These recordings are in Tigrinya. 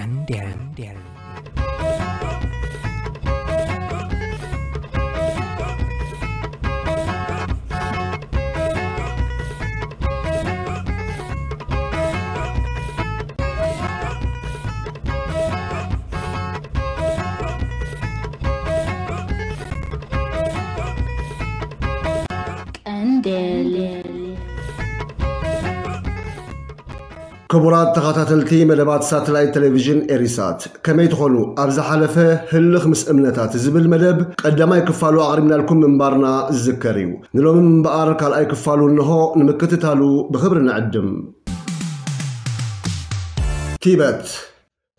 Deren. ቀንዴል። ክቡራት ተኸታተልቲ መደባት ሳተላይት ቴሌቪዥን ኤሪሳት፣ ከመይ ትኾኑ? ኣብ ዝሓለፈ ህልኽ ምስ እምነታት ዝብል መደብ ቀዳማይ ክፋሉ ኣቕሪብናልኩም ምንባርና ዝዝከር እዩ። ንሎሚ እምበኣር ካልኣይ ክፋሉ እንሆ፣ ንምክትታሉ ብኽብሪ ንዕድም። ቲበት።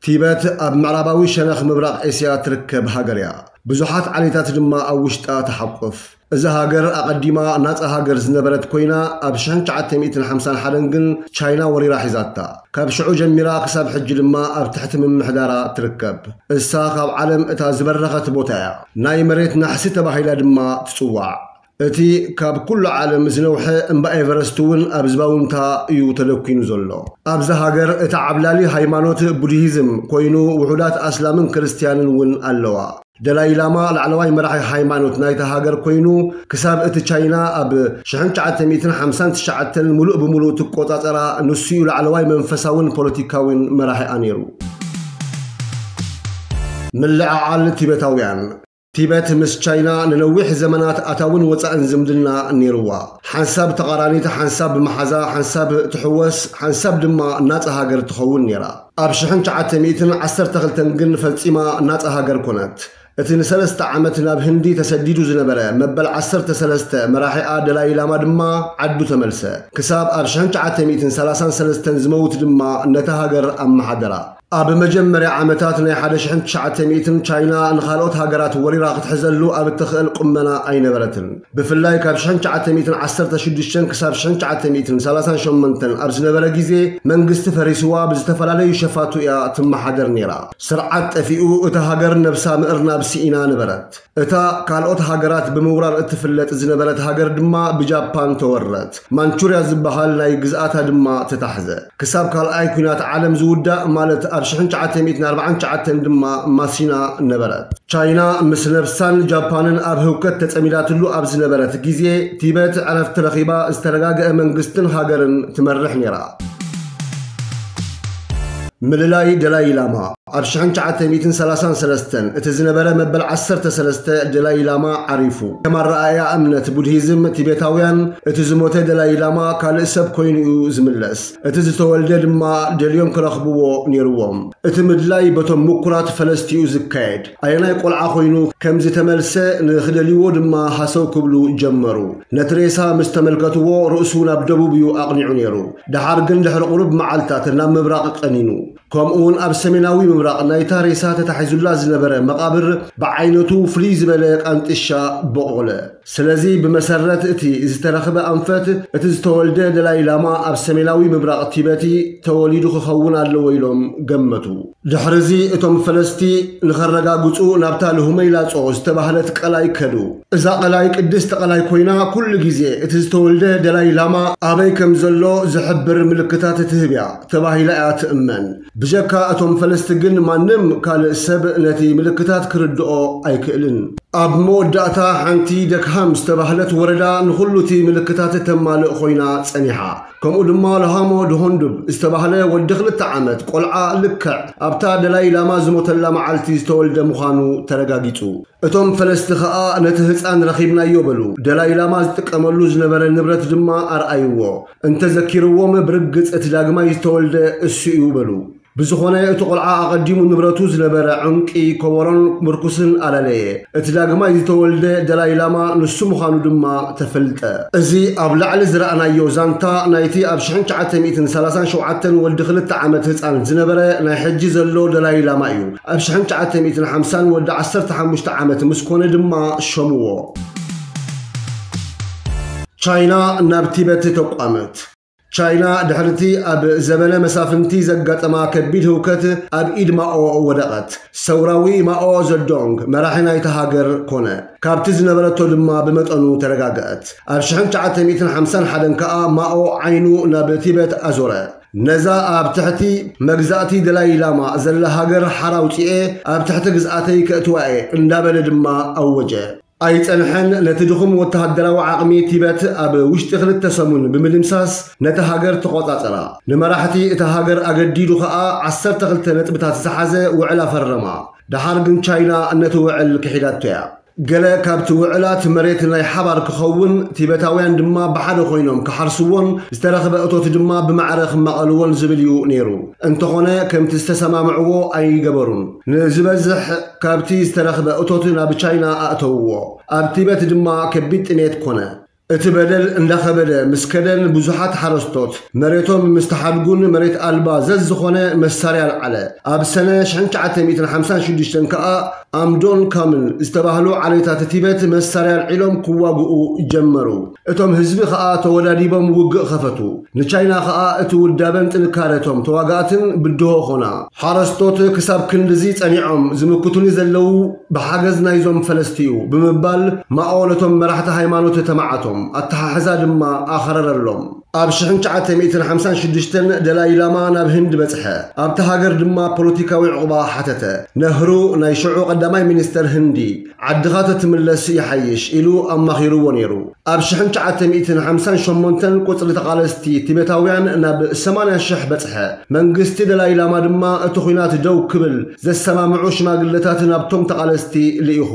ቲበት ኣብ ምዕራባዊ ሸነኽ ምብራቕ ኤስያ ትርከብ ሃገር እያ። ብዙሓት ዓሌታት ድማ ኣብ ውሽጣ ትሓቁፍ። እዛ ሃገር ኣቐዲማ ናጻ ሃገር ዝነበረት ኮይና፣ ኣብ ሽሕን ትሽዓተ ሚእትን ሓምሳን ሓደን ግን ቻይና ወሪራ ሒዛታ። ካብ ሽዑ ጀሚራ ክሳብ ሕጂ ድማ ኣብ ትሕቲ ምምሕዳራ ትርከብ። እሳ ካብ ዓለም እታ ዝበረኸት ቦታ እያ። ናይ መሬት ናሕሲ ተባሂላ ድማ ትጽዋዕ። እቲ ካብ ኩሉ ዓለም ዝነውሐ እምባ ኤቨረስት እውን ኣብ ዝባውንታ እዩ ተደኲኑ ዘሎ። ኣብዛ ሃገር እቲ ዓብላሊ ሃይማኖት ቡድሂዝም ኮይኑ፣ ውሑዳት ኣስላምን ክርስትያንን እውን ኣለዋ። ደላይ ላማ ላዕለዋይ መራሒ ሃይማኖት ናይታ ሃገር ኮይኑ፣ ክሳብ እቲ ቻይና ኣብ ሽሕን ትሽዓተ ሚእትን ሓምሳን ትሽዓተን ምሉእ ብምሉእ ትቆጻጸራ፣ ንሱ እዩ ላዕለዋይ መንፈሳውን ፖለቲካዊን መራሒኣ ነይሩ። ምልዕዓል ቲበታውያን። ቲበት ምስ ቻይና ንነዊሕ ዘመናት ኣታውን ወጻእን ዝምድና ነይርዋ። ሓንሳብ ተቓራኒት፣ ሓንሳብ ብመሓዛ፣ ሓንሳብ ትሕወስ፣ ሓንሳብ ድማ ናጻ ሃገር ትኸውን ነይራ። ኣብ ሽሕን ትሽዓተ ሚእትን ዓሰርተ ክልተን ግን ፈጺማ ናጻ ሃገር ኮነት። እቲ ንሰለስተ ዓመት ናብ ህንዲ ተሰዲዱ ዝነበረ መበል ዓሰርተ ሰለስተ መራሒኣ ደላይ ላማ ድማ ዓዱ ተመልሰ። ክሳብ ኣብ ሽሕን ትሽዓተ ሚእትን ሰላሳን ሰለስተን ዝመውት ድማ ነታ ሃገር ኣመሓደራ። ኣብ መጀመርያ ዓመታት ናይ ሓደ ሽሕን ትሽዓተ ሚእትን ቻይና ንኻልኦት ሃገራት ወሪራ ክትሕዘሉ ኣብ እትኽእል ቁመና ኣይነበረትን። ብፍላይ ካብ ሽሕን ትሽዓተ ሚእትን ዓሰርተ ሽዱሽተን ክሳብ ሽሕን ትሽዓተ ሚእትን ሰላሳን ሸሞንተን ኣብ ዝነበረ ግዜ መንግስቲ ፈሪስዋ ብዝተፈላለዩ ሸፋቱ እያ ትመሓደር ነይራ። ስርዓት ጠፊኡ እታ ሃገር ነብሳ ምእርናብ ስኢና ነበረት። እታ ካልኦት ሃገራት ብምውራር እትፍለጥ ዝነበረት ሃገር ድማ ብጃፓን ተወረት። ማንቹርያ ዝበሃል ናይ ግዝኣታ ድማ ተታሕዘ። ክሳብ ካልኣይ ኲናት ዓለም ዝውዳእ፣ ማለት ኣብ ሽሕን ትሽዓተ ሚእትን ኣርባዓን ትሽዓተን ድማ ማሲና ነበረት። ቻይና ምስ ነብሳን ጃፓንን ኣብ ህውከት ተጸሚዳትሉ ኣብ ዝነበረት ግዜ፣ ቲበት ዕረፍቲ ረኺባ ዝተረጋገአ መንግስትን ሃገርን ትመርሕ ነይራ። ምልላይ ደላይ ላማ። ኣብ ሽሕን ትሽዓተ ሚእትን ሰላሳን ሰለስተን እቲ ዝነበረ መበል ዓሰርተ ሰለስተ ደላይ ላማ ዓሪፉ። ከም ኣረኣእያ እምነት ቡድሂዝም ቲቤታውያን፣ እቲ ዝሞተ ደላይ ላማ ካልእ ሰብ ኮይኑ እዩ ዝምለስ። እቲ ዝተወልደ ድማ ደልዮም ክረኽብዎ ነይርዎም። እቲ ምድላይ በቶም ምኩራት ፈለስቲ እዩ ዝካየድ። ኣየናይ ቆልዓ ኮይኑ ከም ዝተመልሰ ንኽደልይዎ ድማ ሃሰው ክብሉ ጀመሩ። ነቲ ሬሳ ምስ ተመልከትዎ፣ ርእሱ ናብ ደቡብ እዩ ኣቕኒዑ ነይሩ። ደሓር ግን ድሕሪ ቁሩብ መዓልታት ናብ ምብራቕ ቀኒኑ። ከምኡውን ኣብ ሰሜናዊ ምብራቕ ናይታ ሬሳ ተታሒዙላ ዝነበረ መቓብር ብዓይነቱ ፍልይ ዝበለ ቃንጥሻ በቖለ። ስለዚ ብመሰረት እቲ ዝተረኽበ ኣንፈት፣ እቲ ዝተወልደ ደላይ ላማ ኣብ ሰሜናዊ ምብራቕ ቲበቲ ተወሊዱ ክኸውን ኣለዎ ኢሎም ገመቱ። ድሕርዚ እቶም ፈለስቲ ንኸረጋግጹ ናብታ ልሁመይ ላጾ ዝተባህለት ቀላይ ከዱ። እዛ ቀላይ ቅድስቲ ቀላይ ኮይና፣ ኩሉ ግዜ እቲ ዝተወልደ ደላይ ላማ ኣበይ ከም ዘሎ ዝሕብር ምልክታት ትህብ እያ ተባሂላ እያ ትእመን። ብጀካ እቶም ፈለስቲ ግን ማንም ካልእ ሰብ ነቲ ምልክታት ክርድኦ ኣይክእልን። ኣብ መወዳእታ ሓንቲ ደክሃም ዝተባህለት ወረዳ ንኹሉ እቲ ምልክታት ተማልእ ኮይና ጸኒሓ። ከምኡ ድማ ለሃሞ ድሆንዱብ ዝተባህለ ወዲ ክልተ ዓመት ቆልዓ ልክዕ ኣብታ ደላይ ላማ ዝሞተላ መዓልቲ ዝተወልደ ምዃኑ ተረጋጊጹ። እቶም ፈለስቲ ኸኣ ነቲ ህጻን ረኺብናዮ በሉ። ደላይ ላማ ዝጥቀመሉ ዝነበረ ንብረት ድማ ኣርኣይዎ። እንተዘኪርዎም ብርግጽ እቲ ዳግማይ ዝተወልደ እሱ እዩ በሉ። ብዝኾነ እቲ ቆልዓ ኣቐዲሙ ንብረቱ ዝነበረ ዕንቂ፣ ኮቦሮን ምርኩስን ኣለለየ። እቲ ዳግማይ ዝተወልደ ደላይ ላማ ንሱ ምዃኑ ድማ ተፈልጠ። እዚ ኣብ ላዕሊ ዝረኣናዮ ዛንታ ናይቲ ኣብ ሽሕን ትሽዓተ ሚእትን ሰላሳን ሸውዓተን ወዲ ክልተ ዓመት ህጻን ዝነበረ ናይ ሕጂ ዘሎ ደላይ ላማ እዩ። ኣብ ሽሕን ትሽዓተ ሚእትን ሓምሳን ወዲ ዓሰርተ ሓሙሽተ ዓመት ምስ ኮነ ድማ ሸምዎ። ቻይና ናብ ቲበት ተቋመት። ቻይና ድሕርቲ ኣብ ዘበነ መሳፍንቲ ዘጋጠማ ከቢድ ህውከት ኣብ ኢድ ማኦ ወደቐት። ሰውራዊ ማኦ ዘዶንግ መራሒ ናይታ ሃገር ኮነ። ካብቲ ዝነበረቶ ድማ ብመጠኑ ተረጋግአት። ኣብ ሽሕን ትሽዓተ ሚእትን ሓምሳን ሓደን ከኣ ማኦ ዓይኑ ናብ ቲበት ኣዞረ። ነዛ ኣብ ትሕቲ መግዛእቲ ደላይ ላማ ዘላ ሃገር ሓራ ኣውጺኤ ኣብ ትሕቲ ግዝኣተይ ከእትዋ እየ እንዳበለ ድማ ኣወጀ። ኣይጸንሐን፣ ነቲ ድኹም ወተሃደራዊ ዓቕሚ ቲበት ኣብ ውሽጢ ክልተ ሰሙን ብምድምሳስ ነታ ሃገር ተቖጻጸራ። ንመራሕቲ እታ ሃገር ኣገዲዱ ኸኣ ዓሰርተ ክልተ ነጥብታት ዝሓዘ ውዕል ኣፈረማ። ደሓር ግን ቻይና ነቲ ውዕል ክሒዳቶ እያ። ገለ ካብቲ ውዕላት መሬት ናይ ሓባር ክኸውን፣ ቲበታውያን ድማ ብሓደ ኮይኖም ክሓርስዎን ዝተረኽበ እቶት ድማ ብማዕረ ክመቐልዎን ዝብል እዩ ነይሩ። እንተኾነ ከምቲ ዝተሰማምዕዎ ኣይገበሩን። ንዝበዝሕ ካብቲ ዝተረኽበ እቶት ናብ ቻይና ኣእተውዎ። ኣብ ቲበት ድማ ከቢድ ጥሜት ኮነ። እቲ በደል እንዳኸበደ ምስ ከደን ብዙሓት ሓረስቶት መሬቶም ምስ ተሓድጉን መሬት ኣልባ ዘዝኾነ መሳርያ ኣልዓለ። ኣብ ሰነ ሽሕን ትሽዓተ ሚእትን ሓምሳን ሽዱሽተን ከኣ ኣምዶን ካምን ዝተባህሉ ዓሌታት ቲበት መሳርያ ኣልዒሎም ክዋግኡ ጀመሩ። እቶም ህዝቢ ከኣ ተወዳዲቦም ውግእ ከፈቱ። ንቻይና ከኣ እቲ ውዳበን ጥንካረቶም ተዋጋእትን ብድሆ ኾና። ሓረስቶት ክሳብ ክንድዚ ጸኒዖም ዝምክቱኒ ዘለዉ ብሓገዝ ናይዞም ፈለስቲ እዩ ብምባል ማኦ ነቶም መራሕቲ ሃይማኖት ተማዓቶም። ኣተሓሕዛ ድማ ኣኸረረሎም። ኣብ ሽሕን ትሽዓተ ሚእትን ሓምሳን ሽዱሽተን ደላይ ላማ ናብ ህንድ በጽሐ። ኣብቲ ሃገር ድማ ፖለቲካዊ ዕቑባ ሓተተ። ነህሩ ናይ ሽዑ ቀዳማይ ሚኒስተር ህንዲ ዓድኻ ተትምለስ ይሓይሽ ኢሉ ኣማኺርዎ ነይሩ። ኣብ ሽሕን ትሽዓተ ሚእትን ሓምሳን ሸሞንተን ቁጽሪ ተቓለስቲ ቲቤታውያን ናብ ሰማንያ ሽሕ በጽሐ። መንግስቲ ደላይ ላማ ድማ እቲ ኲናት ደው ክብል ዘሰማምዑ ሽማግለታት ናብቶም ተቓለስቲ ልኢኹ።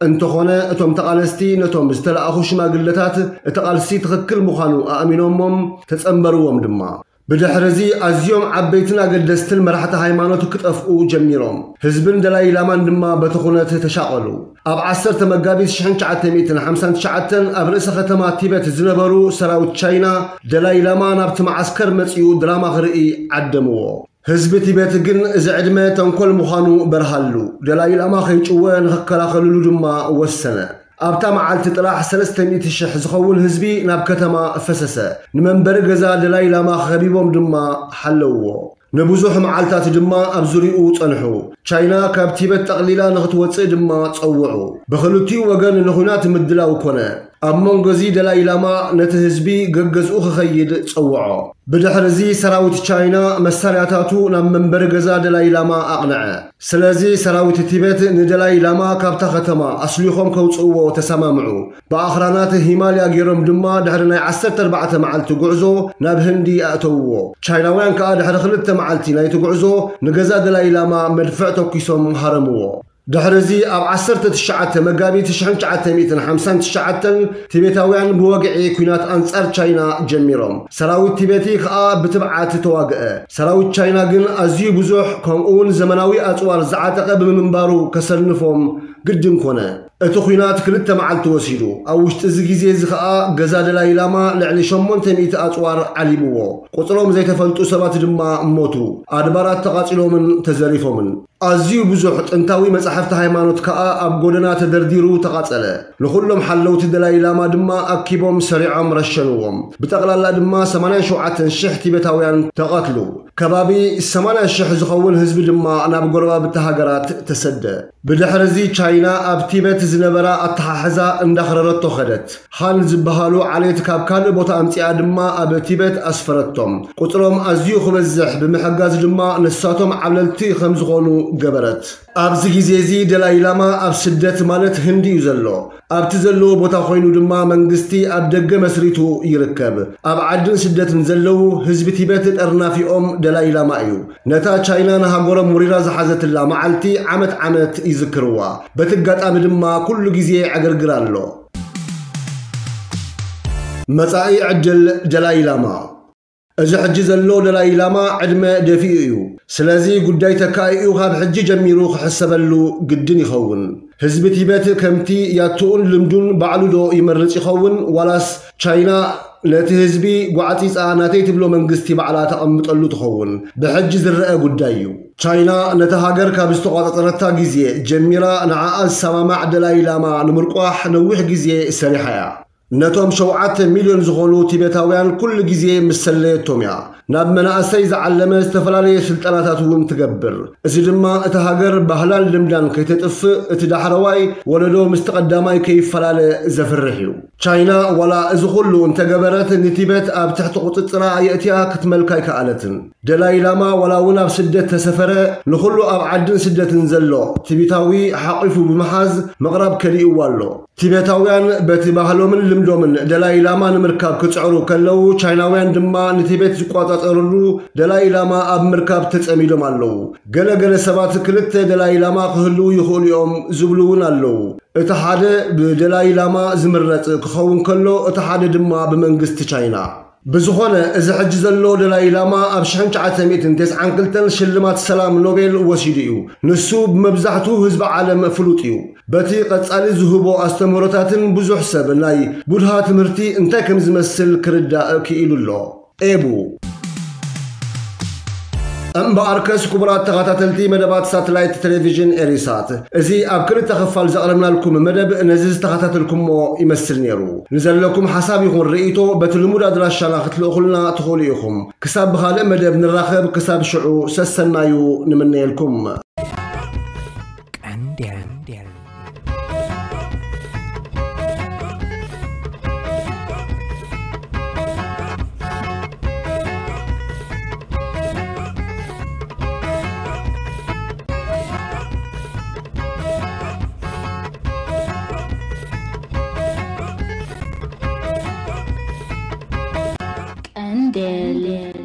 እንተኾነ እቶም ተቓለስቲ ነቶም ዝተላእኹ ሽማግለታት እቲ ቃልሲ ትኽክል ምዃኑ ኣእሚኖሞም ተጸንበርዎም ድማ። ብድሕርዚ ኣዝዮም ዓበይትን ኣገደስትን መራሕቲ ሃይማኖት ክጠፍኡ ጀሚሮም። ህዝብን ደላይ ላማን ድማ በቲ ኩነት ተሻቐሉ። ኣብ ዓሰርተ መጋቢት ሽሕን ትሽዓተ ሚእትን ሓምሳን ትሽዓተን ኣብ ርእሰ ከተማ ቲበት ዝነበሩ ሰራዊት ቻይና ደላይ ላማ ናብቲ መዓስከር መጺኡ ድራማ ክርኢ ዓደምዎ። ህዝቢ ቲበት ግን እዚ ዕድመ ተንኮል ምዃኑ በርሃሉ። ደላይ ላማ ከይጭወ ንኽከላኸልሉ ድማ ወሰነ። ኣብታ መዓልቲ ጥራሕ ሰለስተ ሚእቲ ሽሕ ዝኸውን ህዝቢ ናብ ከተማ ፈሰሰ። ንመንበሪ ገዛ ደላይ ላማ ከቢቦም ድማ ሓለውዎ። ንብዙሕ መዓልታት ድማ ኣብ ዙሪኡ ጸንሑ። ቻይና ካብ ቲበት ጠቕሊላ ንኽትወጽእ ድማ ጸውዑ። ብኽልቲኡ ወገን ንኹናት ምድላው ኮነ። ኣብ መንጎ እዚ ደላይ ላማ ነቲ ህዝቢ ገገዝኡ ክኸይድ ጸውዖ። ብድሕሪ እዚ ሰራዊት ቻይና መሳርያታቱ ናብ መንበሪ ገዛ ደላይ ላማ ኣቕንዐ። ስለዚ ሰራዊት ቲበት ንደላይ ላማ ካብታ ከተማ ኣስሊኾም ከውጽእዎ ተሰማምዑ። ብኣኽራናት ሂማልያ ገይሮም ድማ ድሕሪ ናይ ዓሰርተ ኣርባዕተ መዓልቲ ጉዕዞ ናብ ህንዲ ኣእተውዎ። ቻይናውያን ከኣ ድሕሪ ክልተ መዓልቲ ናይቲ ጉዕዞ ንገዛ ደላይ ላማ መድፍዕ ተኲሶም ሃረምዎ። ድሕሪ እዚ ኣብ ዓሰርተ ትሽዓተ መጋቢት ሽሕን ትሽዓተ ሚእትን ሓምሳን ትሽዓተን ቲቤታውያን ብወግዒ ኲናት ኣንጻር ቻይና ጀሚሮም። ሰራዊት ቲቤቲ ከኣ ብትብዓት ተዋግአ። ሰራዊት ቻይና ግን ኣዝዩ ብዙሕ ከምኡውን ዘመናዊ ኣጽዋር ዝዓጠቐ ብምንባሩ ከሰንፎም ግድን ኮነ። እቲ ኲናት ክልተ መዓልቲ ወሲዱ። ኣብ ውሽጢ እዚ ግዜ እዚ ከኣ ገዛ ደላይ ላማ ልዕሊ ሸሞንተ ሚእቲ ኣጽዋር ዓሊብዎ። ቁጽሮም ዘይተፈልጡ ሰባት ድማ ሞቱ። ኣድባራት ተቓጺሎምን ተዘሪፎምን። ኣዝዩ ብዙሕ ጥንታዊ መጻሕፍቲ ሃይማኖት ከኣ ኣብ ጎደና ተደርዲሩ ተቓጸለ። ንኹሎም ሓለውቲ ደላይ ላማ ድማ ኣኪቦም ሰሪዖም ረሸንዎም። ብጠቕላላ ድማ ሰማንያን ሸውዓተን ሽሕ ቲቤታውያን ተቐትሉ። ከባቢ ሰማንያ ሽሕ ዝኸውን ህዝቢ ድማ ናብ ጎረባብቲ ሃገራት ተሰደ። ብድሕሪ እዚ ቻይና ኣብ ቲበት ዝነበራ ኣተሓሕዛ እንዳኽረረቶ ኸደት። ሃን ዝበሃሉ ዓሌት ካብ ካልእ ቦታ ኣምጺኣ ድማ ኣብ ቲበት ኣስፈረቶም። ቁጽሮም ኣዝዩ ክበዝሕ ብምሕጋዝ ድማ ንሳቶም ዓብለልቲ ከም ዝኾኑ ገበረት። ኣብዚ ግዜ እዚ ደላይ ላማ ኣብ ስደት ማለት ህንዲ እዩ ዘሎ። ኣብቲ ዘለዎ ቦታ ኮይኑ ድማ መንግስቲ ኣብ ደገ መስሪቱ ይርከብ። ኣብ ዓድን ስደትን ዘለዉ ህዝቢ ቲበት ጠርናፊኦም ደላይ ላማ እዩ። ነታ ቻይና ንሃገሮም ወሪራ ዝሓዘትላ መዓልቲ ዓመት ዓመት ይዝክርዋ። በቲ ኣጋጣሚ ድማ ኩሉ ግዜ ዕግርግር ኣሎ። መጻኢ ዕድል ደላይ ላማ። እዚ ሕጂ ዘሎ ደላይ ላማ ዕድመ ደፊኡ እዩ። ስለዚ ጉዳይ ተካኢኡ ካብ ሕጂ ጀሚሩ ክሕሰበሉ ግድን ይኸውን። ህዝቢ ቲበት ከምቲ ያትኡን ልምዱን ባዕሉ ዶ ይመርጽ ይኸውን ዋላስ ቻይና ነቲ ህዝቢ ጓዕጺጻ ናተይ ትብሎ መንግስቲ ባዕላ ተቐምጠሉ ትኸውን? ብሕጂ ዝረአ ጉዳይ እዩ። ቻይና ነታ ሃገር ካብ ዝተቖጻጸረታ ግዜ ጀሚራ ንዓኣ ዝሰማማዕ ደላይ ላማ ንምርቋሕ ነዊሕ ግዜ ሰሪሓ እያ። ነቶም ሸውዓተ ሚልዮን ዝኾኑ ቲቤታውያን ኩሉ ግዜ ምስ ሰለየቶም እያ። ናብ መናእሰይ ዝዓለመ ዝተፈላለየ ስልጠናታት እውን ትገብር። እዚ ድማ እታ ሃገር ባህላን ልምዳን ከይተጥፍእ፣ እቲ ዳሕረዋይ ወለዶ ምስቲ ቀዳማይ ከይፈላለ ዘፍርሕ እዩ። ቻይና ዋላ እዚ ኩሉ እንተገበረት፣ ንቲቤት ኣብ ትሕቲ ቁጽጽራ ኣየእትያ ክትመልካ ኣይከኣለትን። ደላይ ላማ ዋላ እውን ኣብ ስደት ተሰፈረ፣ ንኹሉ ኣብ ዓድን ስደትን ዘሎ ቲቤታዊ ሓቒፉ ብምሓዝ ምቕራብ ከሊእዋ ኣሎ። ቲቤታውያን በቲ ባህሎምን ልምዶምን ደላይ ላማ ንምርካብ ክጽዕሩ ከለዉ፣ ቻይናውያን ድማ ንቲቤት ዝቆጻጸርሉ ደላይ ላማ ኣብ ምርካብ ተጸሚዶም ኣለዉ። ገለ ገለ ሰባት ክልተ ደላይ ላማ ክህልዉ ይኽእሉ እዮም ዝብሉ እውን ኣለዉ። እቲ ሓደ ብደላይ ላማ ዝምረጽ ክኸውን ከሎ፣ እቲ ሓደ ድማ ብመንግስቲ ቻይና። ብዝኾነ፣ እዚ ሕጂ ዘሎ ደላይ ላማ ኣብ ሽሕን ትሽዓተ ሚእትን ተስዓን ክልተን ሽልማት ሰላም ኖቤል ወሲዱ እዩ። ንሱ ብመብዛሕትኡ ህዝቢ ዓለም ፍሉጥ እዩ። በቲ ቀጻሊ ዝህቦ ኣስተምህሮታትን ብዙሕ ሰብ ናይ ቡድሃ ትምህርቲ እንታይ ከም ዝመስል ክርዳእ ክኢሉ ኣሎ። ኤቡ። እምበኣርከስ፣ ክቡራት ተኸታተልቲ መደባት ሳተላይት ቴሌቪዥን ኤሪሳት፣ እዚ ኣብ ክልተ ክፋል ዘቕረብናልኩም መደብ ነዚ ዝተኸታተልኩሞ ይመስል ነይሩ። ንዘለኩም ሓሳብ ይኹን ርእይቶ በቲ ልሙድ ኣድራሻና ክትልእኹልና ትኽእሉ ኢኹም። ክሳብ ብኻልእ መደብ ንራኸብ፣ ክሳብ ሽዑ ሰሰናዩ ንምነየልኩም። ቀንዴል። ቀንዴል።